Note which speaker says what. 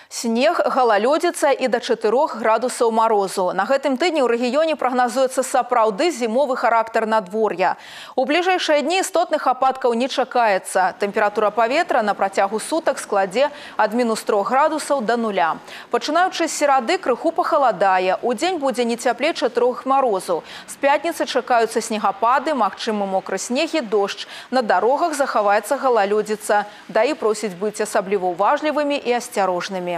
Speaker 1: Снег, галалёдзіца і да 4 градусаў марозу. На гэтым тыдні ў рэгіёне прагназуецца сапраўды зімовы характар надвор'я. У бліжэйшыя дні істотных ападкаў не чакаецца. Тэмпература паветра на працягу сутак складзе ад -3 градусаў да 0. Пачынаючы з серады крыху пахаладае. Удзень будзе не цяплей 4 марозу. З пятніцы чакаюцца снегапады, магчымы мокры снег і дождж. На дарогах захаваецца галалёдзіца. ДАІ просіць быць асабліва уважлівымі і асцярожнымі.